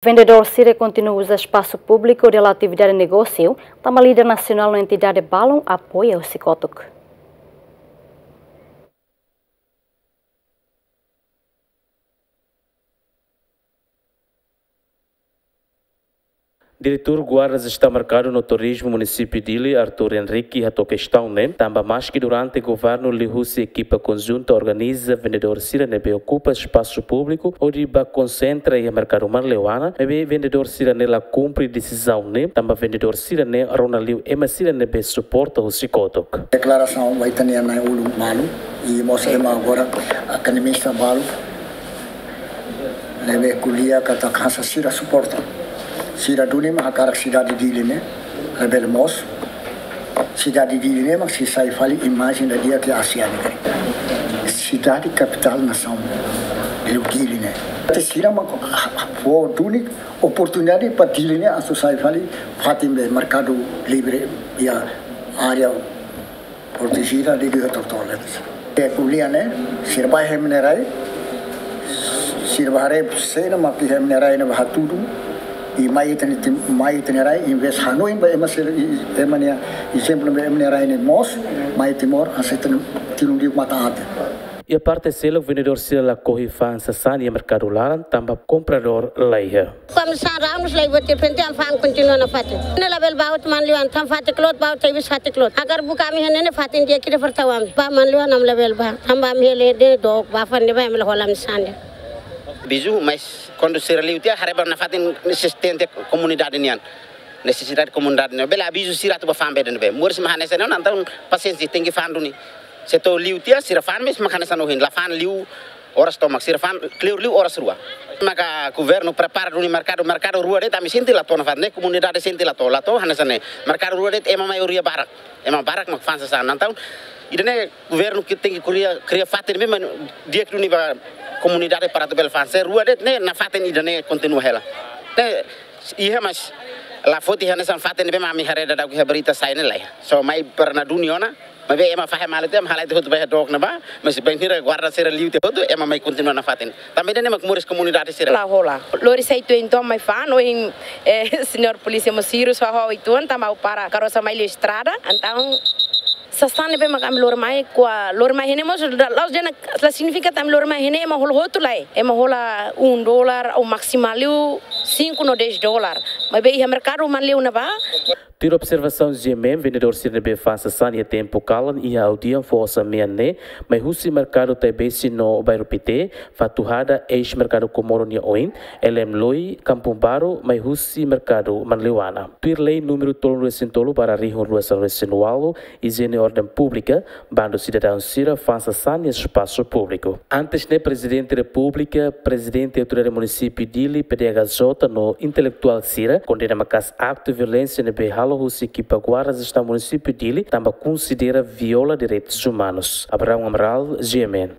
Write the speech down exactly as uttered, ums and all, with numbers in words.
Vendedór sira kontinua uza espasu públiku hodi halo atividade negósiu, tanba líder nasionál no entidade balun apoia husi kotuk. Diretór Guarda Jestaun Merkadu no Turizmu Munisípiu Dili, Arthur Henrique, hato'o kestaun ne'e, tanba maski durante governu liuhusi ekipa konjunta organiza vendedór sira ne'ebé okupa espasu públiku hodi bá konsentra iha merkadu Manleuana, maibé vendedór sira ne'e la kumpre desizaun ne'e, tanba vendedór sira ne'e rona liu ema sira ne'ebé suporta husi kotuk. Deklarasaun ba ita-nia nai-ulun malu, i mós ema agora akademista balu, ne'ebé ko'alia katak hanesan sira suporta. Sira duni mak hakarak sidade Dili ne'e labele moos. Sidade Dili ne'e mak sei sai fali imajen ida di'ak iha ASEAN ne'e. Sidade kapitál nasaun, liu Dili ne'e. Te sira mak fó duni oportunidade ba Dili ne'e atu sai fali fatin be merkadu livre iha área protejida de Rio Tortola. Ke ko'alia ne'e, sira bá iha ema nia rai, sira bá haree saida mak iha ema nia rai ne'ebé hatudu, i mai ita-nia tim-, mai ita-nia rai, envezde hanoin ba ema sira, i, ema nia ezemplu ba ema nia rai ne'e moos, mai Timor, hanesan ita-nia tilun liu matan-aten. Iha parte seluk vendedór sira lakohi fa'an sasán iha merkadu laran, tanba kompradór laiha. Kami sasán rau nus lai buat, de repente ami fa'an kontinua nafatin. Ne'e labele bá hotu Manleuana, tanba fatin kloot, bá hotu iha bis fatin kloot. Agora buka ami iha ne'e, ne'e fatin di'ak ida para tau ami. Bá Manleuana ami labele bá. Tanba ami hela de'it dook, bá fa'an ne'ebá ami la hola ami sasán de'it. Avizu, mas kuandu sira liu tiha, haree ba nafatin asistente komunidade nian. Nesesidade komunidade ne'e. Bele avizu sira atu bá fa'an be de'it ne'ebé. Moris mak hanesan ne'e, entaun pasiénsia, tenke fa'an duni. Se to'o liu tiha, sira fa'an, mas mak hanesan ohin. La fa'an liu oras tomak, sira fa'an kleur liu oras rua. Maka governu prepara duni merkadu, merkadu rua de'it, ami sente la to'o nafatin ne'e, komunidade sente la to'o, la to'o, hanesan ne'e. Merkadu rua de'it, ema maioria barak. Ema barak mak fa'an sasán. Entaun, ida-ne'e governu ke tenke kria, kria fatin ne'ebé mak di'ak duni ba komunidade para atu bele fa'an. Se rua de'it ne'e, nafatin ida-ne'e kontinua hela. Ne'e, iha mas la foti hanesan fatin ne'ebé mak ami haree daudauk iha berita sai ne'e laiha. So mai para na duni ona, maibé ema fahe malu tiha, ema halai tiha hotu ba iha dook ne'ebá, mas bainhira guarda sira liu tiha hotu, ema mai kontinua nafatin. Tanba ida-ne'e mak moris komunidade sira. La hola. Lori sai tuan entaun mai fa'an, ohin, eh, señór polísia mós sira só ho ituan, tanba para karosa mai liu estrada, entaun sasán ne'ebé mak ami lori mai, kua lori mai iha ne'e mós, la, la'ós dehan la signifika katak ami lori mai iha ne'e ema hola hotu lae. Ema hola um dólar ou maximál liu cinco no dez dólar. Maibé iha merkadu Manleuana ne'ebá. Tuir observasaun G M M, vendedór sira ne'ebé fa'an sasán iha tempu kalan iha aldeia Foho Samean ne'e, mai husi merkadu Taibesi no Bairru Pité, Fatuhada, eis-merkadu Comoro nia oin, L M Loi, Kampung Baru, mai husi merkadu Manleuana. Tuir lei númeru tolunulu-resin-tolu barra rihun rua sanulu-resin-ualu, Ijiene Orden Públika, bandu sidadaun sira fa'an sasán iha espasu públiku. Antes ne'e, Prezidente Repúblika, Prezidente Autoridade Munisípiu Dili, P D H J, no intelektuál sira kondena maka'as aktu violénsia ne'ebé halo husi ekipa Guarda Jestaun Munisípiu Dili, tanba konsidera viola direitus umanus. Abraão Amaral, G M N.